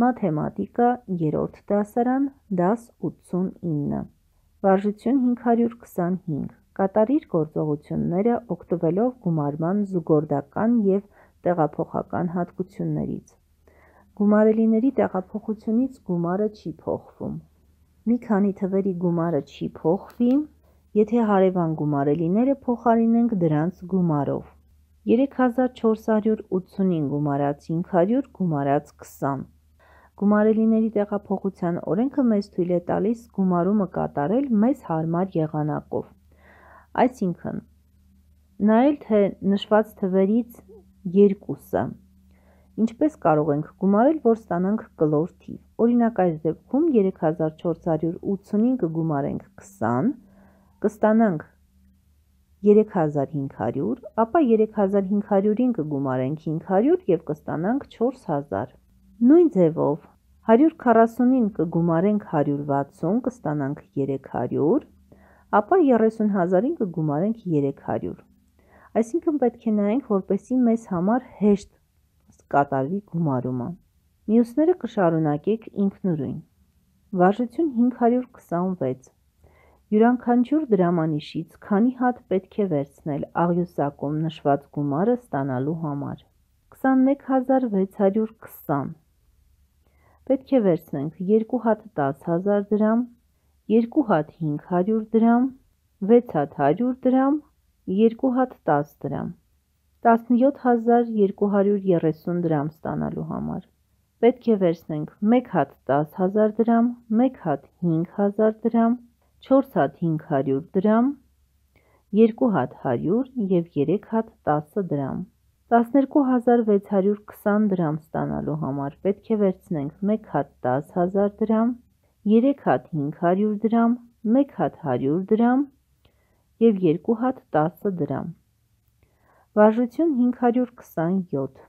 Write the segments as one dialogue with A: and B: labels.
A: Մաթեմատիկա 3-րդ դասարան, դաս 89, վարժություն 525, կատարիր գործողությունները օգտվելով գումարման զուգորդական և տեղափոխական հատկություններից։ Գումարելիների տեղափոխությունից գումարը չի փոխվում։ Մի քանի թվերի գումարը չի փոխվի, եթե հարևան գումարելիները փոխարինենք դրանց գումարով։ 3485 գումարած 500 գումարած 20։ Գումարելիների տեղափոխության օրենքը մեզ թույլ է տալիս գումարումը կատարել մեզ հարմար եղանակով, այսինքն նայել, թե նշված թվերից երկուսը ինչպես կարող ենք գումարել, որ ստանանք կլոր թիվ։ Օրինակ այս դեպքում 3485 գումարենք 20, կստանանք 3500, ապա 3500-ին կգումարենք 500 և կստանանք 4000։ Նույն ձևով 140-ին կգումարենք 160, կստանանք 300, ապա 30000-ին կգումարենք 300։ Այսինքն պետք է նայենք, որպեսզի մեզ համար հեշտ կատարվի գումարումը։ Մյուսները կշարունակեք ինքնուրույն։ Վարժություն 526, յուրաքանչյուր դրամանիշից քանի հատ պետք է վերցնել աղյուսակում նշված գումարը ստանալու համար։ 21620, պետք է վերցնենք 2 հատ 10000 դրամ, 2 հատ 500 դրամ, 6 հատ 100 դրամ, 2 հատ 10 դրամ, 17230 դրամ ստանալու համար։ Պետք է վերցնենք 1 հատ 10000 դրամ, 1 հատ 5000 դրամ, 4 հատ 500 դրամ, 2 հատ 100 և 3 հատ 10 դրամ։ 12620 դրամ ստանալու համար պետք է վերցնենք 1 հատ 10000 դրամ, 3 հատ 500 դրամ, 1 հատ 100 դրամ և 2 հատ 10 դրամ։ Վարժություն 527,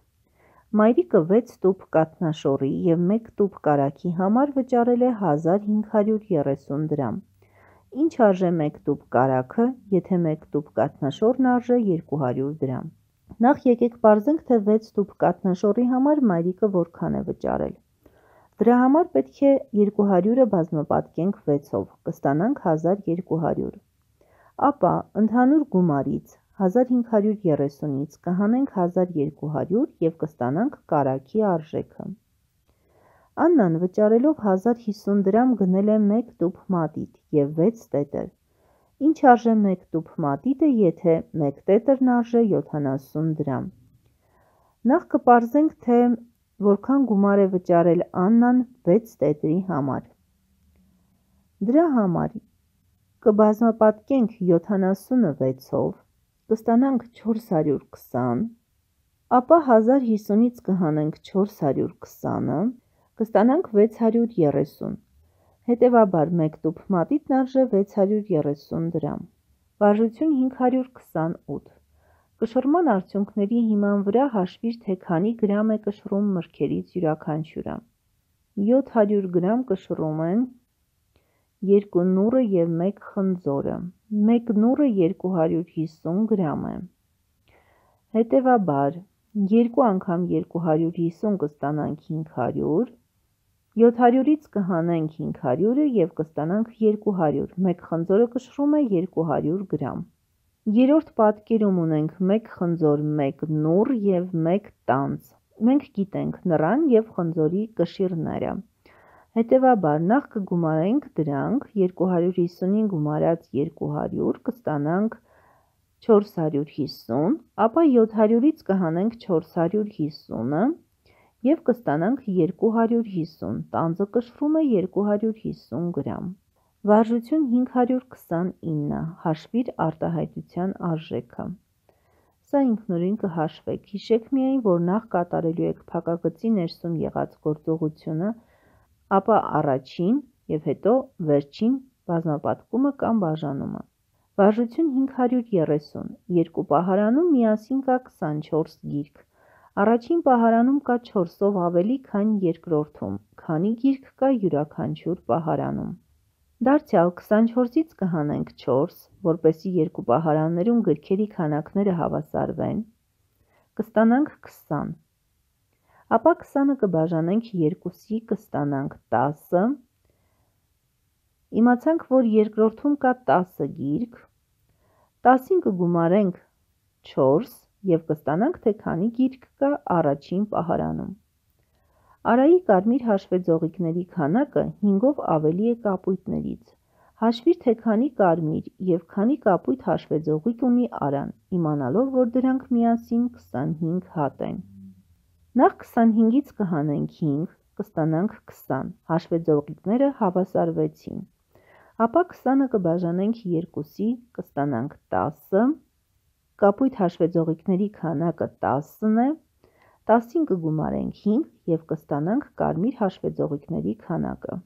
A: մայրիկը 6 տուփ կաթնաշոռի և 1 տուփ կարագի համար վճարել է 1530 դրամ։ Ինչ արժե 1 տուփ կարագը, եթե 1 տուփ կաթնաշոռն արժե 200 դրամ։ Նախ եկեք պարզենք, թե 6 տուփ կաթնաշոռի համար մայրիկը որքան է վճարել։ Դրա համար պետք է 200-ը բազմապատկենք 6-ով, կստանանք 1200։ Ապա ընդհանուր գումարից 1530-ից կհանենք 1200 և կստանանք կարագի արժեքը։ Աննան վճարելով 1050 դրամ գնել է 1 տուփ մատիտ և 6 տետր։ Ինչ արժե 1 տուփ մատիտը, եթե 1 տետրն արժե 70 դրամ։ Նախ կպարզենք, թե որքան գումար է վճարել Աննան 6 տետրի համար։ Դրա համար կբազմապատկենք 70-ը 6-ով, կստանանք 420, ապա 1050-ից կհանենք 420-ը, կստանանք 630։ Հետևաբար 1 տուփ մատիտն արժե 630 դրամ։ Վարժություն 528, կշռման արդյունքների հիման վրա հաշվիր, թե քանի գրամ է կշռում մրգերից յուրաքանչյուրը։ 700 գրամ կշռում են 2 նուռը և 1 խնձորը, 1 նուռը 250 գրամ է։ Հետևաբար 2 անգամ 250 կստանանք 500, 700-ից կհանենք 500-ը և կստանանք 200, 1 խնձորը կշռում է 200 գրամ։ Երրորդ պատկերում ունենք 1 խնձոր, 1 նուռ և 1 տանձ։ Մենք գիտենք նռան և խնձորի կշիռները։ Հետևաբար նախ կգումարենք դրանք, 250-ին գումարած 200 կստանանք 450, ապա 700-ից կհանենք 450-ը և կստանանք 250, տանձը կշռում է 250 գրամ։ Վարժություն 529, հաշվիր արտահայտության արժեքը։ Սա ինքնուրույն կհաշվեք, հիշեք միայն, որ նախ կատարելու եք փակագծի ներսում եղած գործողությունը, ապա առաջին և հետո վերջին բազմապատկումը կամ բաժանումը։ Վարժություն 530, երկու պահարանում միասին կա 24 գիրք։ Առաջին պահարանում կա 4-ով ավելի, քան երկրորդում, քանի գիրք կա յուրաքանչյուր պահարանում։ Դարձյալ 24-ից կհանենք 4, որպեսզի երկու պահարաններում գրքերի քանակները հավասարվեն, կստանանք 20։ Ապա 20-ը կբաժանենք 2-ի, կստանանք 10, իմացանք, որ երկրորդում կա 10 գիրք, 10-ին կգումարենք 4 և կստանանք, թե քանի գիրք կա առաջին պահարանում։ Արայի կարմիր հաշվեձողիկների քանակը 5-ով ավելի է կապույտներից։ Հաշվիր, թե քանի կարմիր և քանի կապույտ հաշվեձողիկ ունի Արան, իմանալով, որ դրանք միասին 25 հատ են։ Նախ 25-ից կհանենք 5, կստանանք 20, հաշվեձողիկները հավասարվեցին։ Ապա 20-ը կբաժանենք 2-ի, կստանանք 10, կապույտ հաշվեձողիկների քանակը 10-ն է, 10-ին կգումարենք 5 և կստանանք կարմիր հաշվեձողիկների քանակը։